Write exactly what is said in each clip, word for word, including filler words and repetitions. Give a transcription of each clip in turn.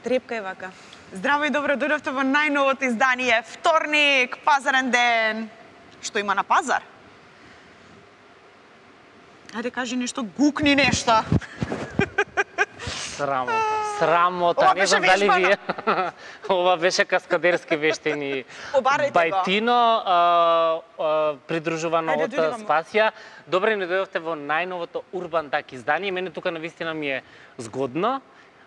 трепка е вака. Здраво и добро дојдовте во најновото издание Вторник, пазарен ден. Што има на пазар? Ајде кажи нешто, гукни нешто. Срамота, срамота, Ова не беше знам дали вежбано. вие. Ова беше каскадерски вештини. Побарајте го. Бајтино, а, а, придружувано Ајде, од дојдуваме. Спасија. Добре не дојдовте во најновото Урбан Так издание. Мене тука навистина ми е згодно.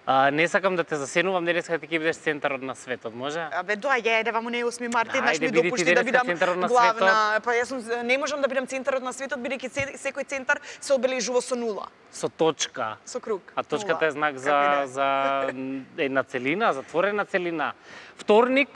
А, не сакам да те засенувам, не сакам да ти бидеш центарот на светот, може? Абе, доаѓај, еде, ваму не е осми март, еднаш Ајде, ми биди ти допушти да денеска бидам центарот на главна. Па јас сум, не можам да бидам центарот на светот, бидејќи се- секој центар се обележува со нула, Со точка. со круг. А точката е знак за, Како и да е. за една целина, затворена целина. Вторник,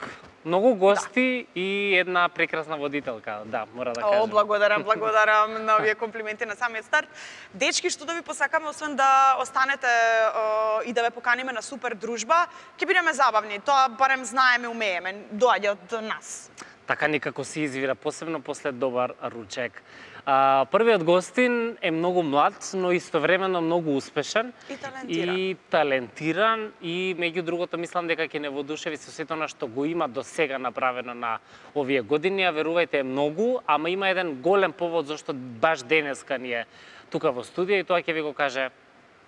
многу гости и една прекрасна водителка. Да, мора да кажам. О, благодарам, благодарам на овие комплименти на самиот старт. Дечки, што да ви посакаме, освен да останете о, и да ве поканиме на супер дружба, ќе бидеме забавни. Тоа барем знаеме, умееме, доаѓа од нас. Така некако се извира, посебно после добар ручек. А, првиот гостин е многу млад, но истовремено многу успешен. И талентиран. И талентиран и меѓу другото мислам дека ќе не воодушеви со сето она што го има до сега направено на овие години, а верувајте е многу, ама има еден голем повод зашто баш денеска ни е тука во студија и тоа ќе ви го каже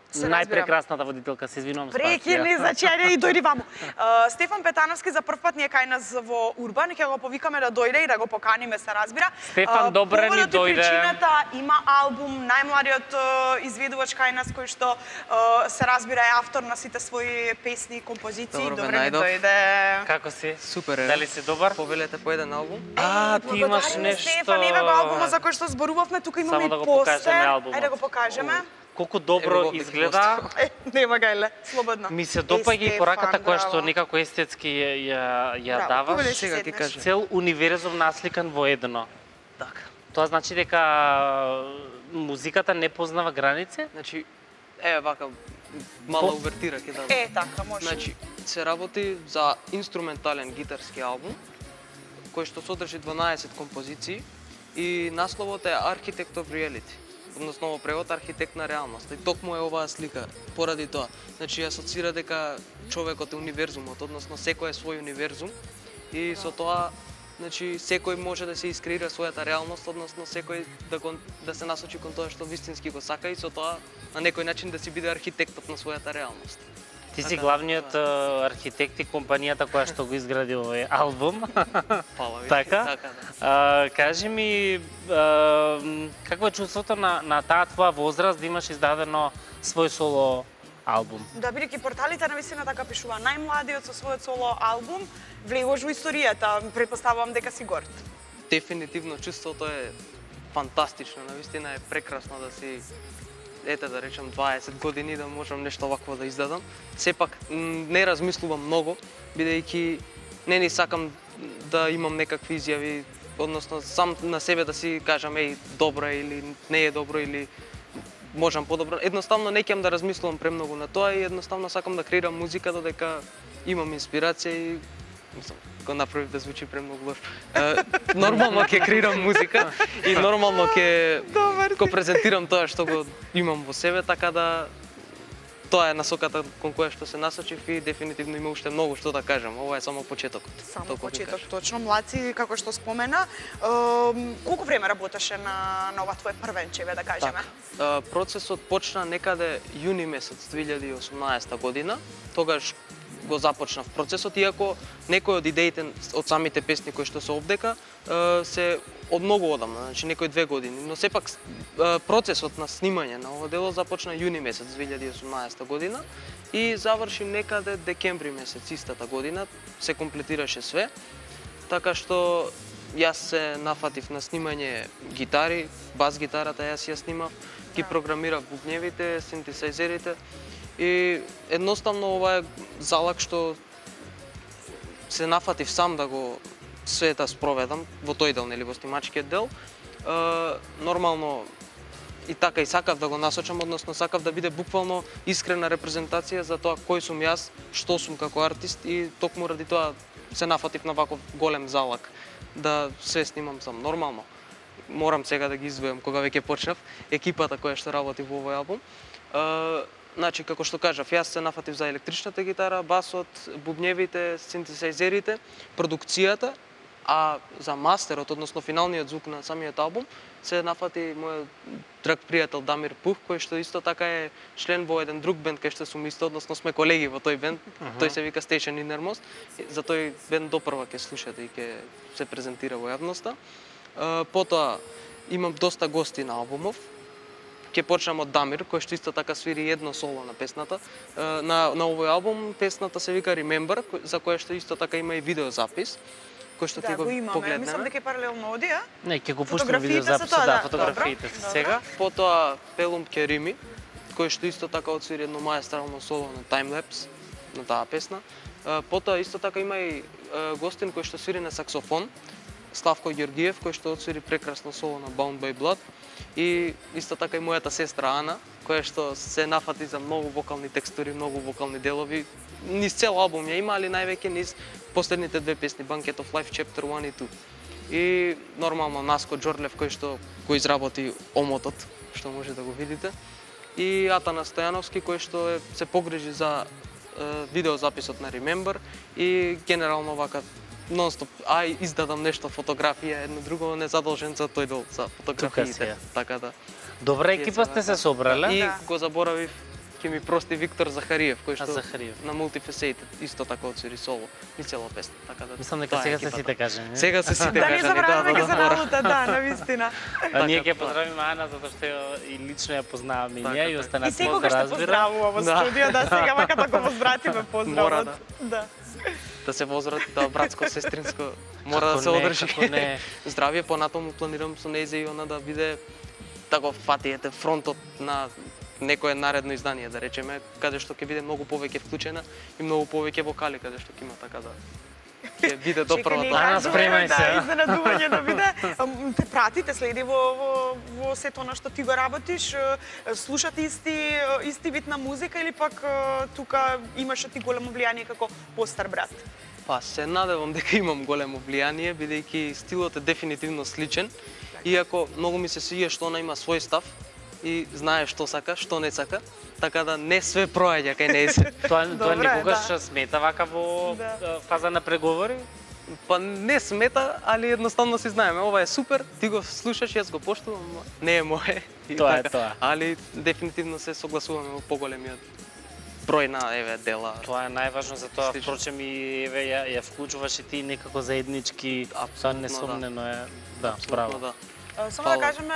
Се разбирам. најпрекрасната водителка, се извинувам, Прекини, Спасија. значи, ајде и дојди ваму. Uh, Стефан Петановски за прв пат ни е кај нас во Урбан, ќе го повикаме да дојде и да го поканиме, се разбира. Стефан, добре ни поводот и дојде. Причината има албум, најмладиот uh, изведувач кај нас, кој што uh, се разбира е автор на сите своји песни и композиции. Добро, бе, Добре ни најдов. дојде. Како си? Супер е. Дали си добар? Повелете по еден албум? А, ти имаш Благодариме, нешто. Стефан, еве го албумот за кој што зборувавме, тука имаме Само и да го постер. покажеме албумот. Ајде да го покажеме. Колку Ево добро го, изгледа. Е, нема гајле, слободно. Ми се Е, допаѓа и Стефан, пораката која што браво. некако естетски ја, ја, ја Браво, даваш. повелеш Сега ти седнеш. кажа. Цел универзум насликан во едно. Така. Тоа значи дека музиката не познава граници? Значи, е, вака, мала увертира ќе дадам. Е, така, може. Значи, се работи за инструментален гитарски албум, кој што содржи дванаесет композиции и насловот е Architect of Reality, односно во превод архитект на реалност. И токму е оваа слика поради тоа. Значи, асоцира дека човекот е универзумот, односно секој е свој универзум и со тоа значи секој може да се искреира својата реалност, односно секој да го, да се насочи кон тоа што вистински го сака и со тоа на некој начин да си биде архитектот на својата реалност. Ти си Така, главниот а, архитект и компанијата која што го изгради овој албум. Фала ви. Така? Така, да. А, кажи ми, а, какво е чувството на, на таа твоја возраст да имаш издадено свој соло албум? Да, бидејќи порталите навистина така пишува, најмладиот со својот соло албум влегуваш во историјата, претпоставувам дека си горд. Дефинитивно чувството е фантастично, навистина е прекрасно да си ете да речем дваесет години да можам нешто вакво да издадам. Сепак м, не размислувам многу, бидејќи не ни сакам да имам некакви изјави, односно сам на себе да си кажам еј добро е или не е добро или можам подобро. Едноставно не ќе да размислувам премногу на тоа и едноставно сакам да креирам музика додека имам инспирација и мислам, го направив да звучи премногу лош. Е, нормално ќе креирам музика и нормално ќе Добар го презентирам тоа што го имам во себе, така да тоа е насоката кон која што се насочив и дефинитивно има уште многу што да кажам. Ова е само почетокот. Само толку ви почеток, кажам. точно. Младци, како што спомена, ем, колку време работеше на, на ова твое првенче, да кажеме? Така, е, процесот почна некаде јуни месец две илјади и осумнаесета година. Тогаш го започнав процесот, иако некои од идеите од самите песни кои што се овдека е, се од многу одамна, значи некои две години, но сепак е, процесот на снимање на ова дело започна јуни месец две илјади и осумнаесета година и заврши некаде декември месец истата година, се комплетираше све, така што јас се нафатив на снимање гитари, бас гитарата јас ја снимав, ги програмирав бубневите, синтесајзерите и едноставно ова е залак што се нафатив сам да го све да спроведам во тој дел, нели, во снимачкиот дел. Е, нормално и така и сакав да го насочам, односно сакав да биде буквално искрена репрезентација за тоа кој сум јас, што сум како артист и токму ради тоа се нафатив на ваков голем залак да се снимам сам. Нормално морам сега да ги извојам кога веќе почнав екипата која што работи во овој албум. Е, значи како што кажав, јас се нафатив за електричната гитара, басот, бубневите, синтесајзерите, продукцијата, а за мастерот, односно финалниот звук на самиот албум, се нафати мојот драг пријател Дамир Пух, кој што исто така е член во еден друг бенд кај што сум исто, односно сме колеги во тој бенд. Uh -huh. Тој се вика Station Innermost. За тој бенд допрва ќе слушате и ќе се презентира во јавноста. Потоа имам доста гости на албумов. Ќе почнам од Дамир, кој што исто така свири едно соло на песната. На на овој албум песната се вика Remember, за која што исто така има и видеозапис, кој што да, ти го, го погледнеме. Мислам дека е паралелно оди, а? Не, ќе го пуштам видеозаписот, да, фотографиите се сега. Потоа Пелум Керими, кој што исто така отсвири едно маестрално соло на таймлепс на таа песна. Потоа исто така има и гостин кој што свири на саксофон, Славко Ѓоргиев, кој што отсвири прекрасно соло на Bound by Blood. И исто така и мојата сестра Ана, која што се нафати за многу вокални текстури, многу вокални делови. Низ цел албум ја има, али највеќе низ последните две песни, Bucket of Life, Chapter one и two. И нормално Наско Џорлев, кој што го изработи омотот, што може да го видите. И Атана Стојановски, кој што е, се погрижи за е, видеозаписот на Remember и генерално вака нон-стоп, ај издадам нешто, фотографија, едно друго, не задолжен за тој дел, за фотографиите. Така да. Добра екипа сте се собрале. И да. го заборавив, ќе ми прости Виктор Захариев, кој што Захариев. на Multifaceted исто така отсвири соло и цела песна. Така да. Мислам дека сега се сите кажани. Сега се сите Да, не кажани, да, забравяме да, дека се да, работа, да, навистина. А ние Така, ќе поздравиме Ана затоа што и лично ја познаваме и Така, ние и така. И останат секогаш те поздравува во Да. студио, да, сега вака да го возвратиме поздравот. Мора, да. Да. да се возврати тоа братско сестринско мора да Како се не, одржи. како не. Здравје, понатаму планирам со нејзе и она да биде да го фатиете фронтот на некое наредно издание, да речеме, каде што ќе биде многу повеќе вклучена и многу повеќе вокали, каде што ќе има, така да ќе биде допрва Чекај, тоа. Ана, спремај се, Да, а? изненадување да биде. Ам, Те прати, те следи во, во, во сето на што ти го работиш, е, слушате исти, исти вид на музика или пак е, тука имаш ти големо влијание како постар брат? Па се надевам дека имам големо влијание, бидејќи стилот е дефинитивно сличен, иако многу ми се свија што она има свој став и знае што сака, што не сака, така да не све проаѓа кај нејзе. Тоа тоа Добре, никогаш да. смета вака во Да. а, фаза на преговори? Па не смета, али едноставно си знаеме, ова е супер, ти го слушаш, јас го поштувам, ама не е мое. И Тоа е така. тоа. Али дефинитивно се согласуваме во поголемиот број на еве дела. Тоа е најважно за тоа, Слично. впрочем и еве ја, ја вклучуваш и ти некако заеднички, тоа Апсолутно, несомнено е, да, Апсолутно, право. да. Само Фала. да кажеме,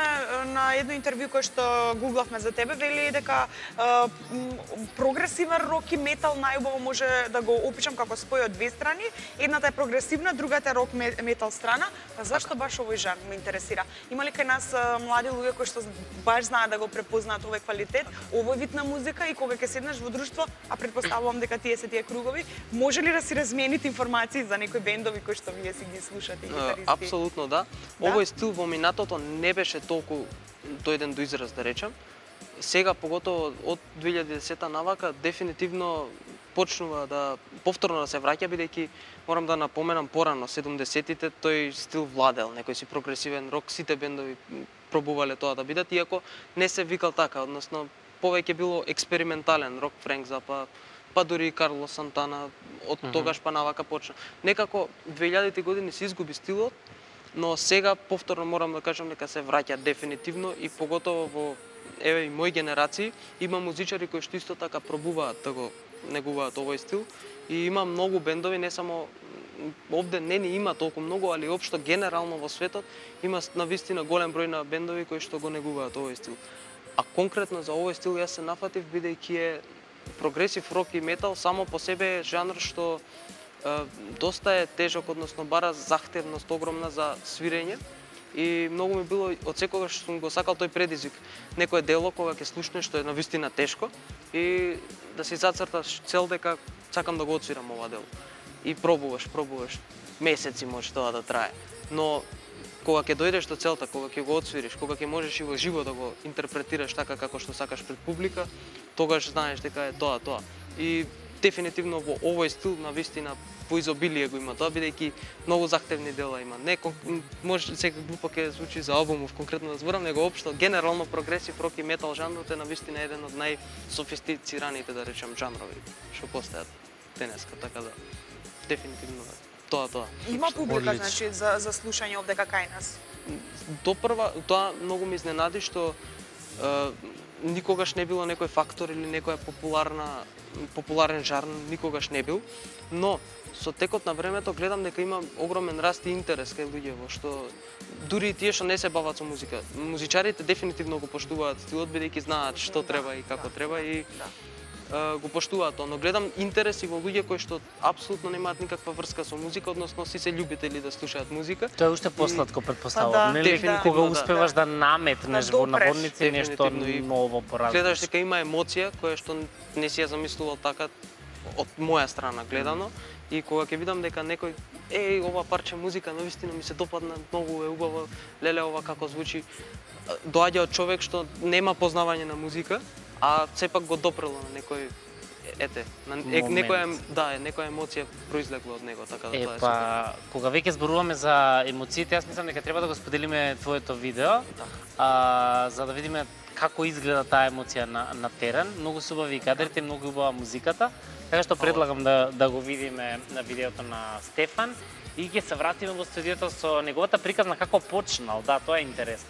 на едно интервју кое што гуглавме за тебе, вели дека е, м, прогресивен рок и метал најубаво може да го опишам како спој од две страни. Едната е прогресивна, другата е рок ме- метал страна. Па зашто баш овој жанр ме интересира? Има ли кај нас е, млади луѓе кои што баш знаат да го препознаат овој квалитет, овој вид на музика и кога ќе седнеш во друштво, а предпоставувам дека тие се тие кругови, може ли да си размените информации за некои бендови кои што вие си ги слушате и гитаристи? Апсолутно да. Да? Овој стил во минатото не беше толку дојден до израз, да речем. Сега, поготово од две илјади и десета навака, дефинитивно почнува да повторно да се враќа, бидејќи морам да напоменам порано, седумдесетите тој стил владел, некој си прогресивен рок, сите бендови пробувале тоа да бидат, иако не се викал така, односно повеќе било експериментален рок, Френк Запа, па дури и Карло Сантана, од тогаш па навака почна. Некако две илјадите години се изгуби стилот, но сега повторно морам да кажам дека се враќа дефинитивно и поготово во еве и мои генерации има музичари кои што исто така пробуваат да го негуваат овој стил и има многу бендови, не само овде не ни има толку многу, али општо генерално во светот има навистина голем број на бендови кои што го негуваат овој стил. А конкретно за овој стил јас се нафатив бидејќи е прогресив рок и метал само по себе е жанр што е, доста е тежок, односно бара захтевност огромна за свирење и многу ми било од секогаш сум го сакал тој предизвик. Некое дело кога ќе слушнеш што е навистина тешко и да си зацрташ цел дека сакам да го отсвирам ова дело. И пробуваш, пробуваш. Месеци може тоа да трае. Но кога ќе дојдеш до целта, кога ќе го отсвириш, кога ќе можеш и во живо да го интерпретираш така како што сакаш пред публика, тогаш знаеш дека е тоа, тоа. И дефинитивно во овој стил на вистина поизобилие го има тоа, бидејќи многу захтевни дела има. Не може сега глупо ќе звучи за албумов конкретно да зборам, него општо генерално прогресив рок и метал жанрот е на вистина еден од најсофистицираните, да речем, жанрови што постојат денеска, така да дефинитивно тоа тоа. Има публика, Одлично. значи, за, за слушање овдека кај нас. До прва, тоа многу ме изненади што е, никогаш не било некој фактор или некоја популарна популарен жанр, никогаш не бил, но со текот на времето гледам дека има огромен раст и интерес кај луѓето, што дури и тие што не се бават со музика. Музичарите дефинитивно го поштуваат стилот, бидејќи знаат што треба и како треба и е, го поштуваат тоа, но гледам интерес и во луѓе кои што апсолутно немаат никаква врска со музика, односно си се љубители да слушаат музика. Тоа е уште посладко Па предпоставувам, да, нели? дефинитивно, Кога да. успеваш да наметнеш Да во допреш. наводници нешто Дефинитивно и ново поразлично. Гледаш дека има емоција која што не си ја замислувал така од моја страна гледано и кога ќе видам дека некој еј ова парче музика навистина ми се допадна, многу е убаво, леле ова како звучи, доаѓа од човек што нема познавање на музика, а сепак го допрело на некој ете, на е, Момент. некоја да, е некоја емоција произлегла од него, така да Е, тоа е па, супер. кога веќе зборуваме за емоциите, јас мислам дека треба да го споделиме твоето видео, а, за да видиме како изгледа таа емоција на, на терен. Многу се убави кадрите, многу убава музиката, така што предлагам да, да го видиме на видеото на Стефан и ќе се вратиме во студиото со неговата приказна како почнал, да, тоа е интересно.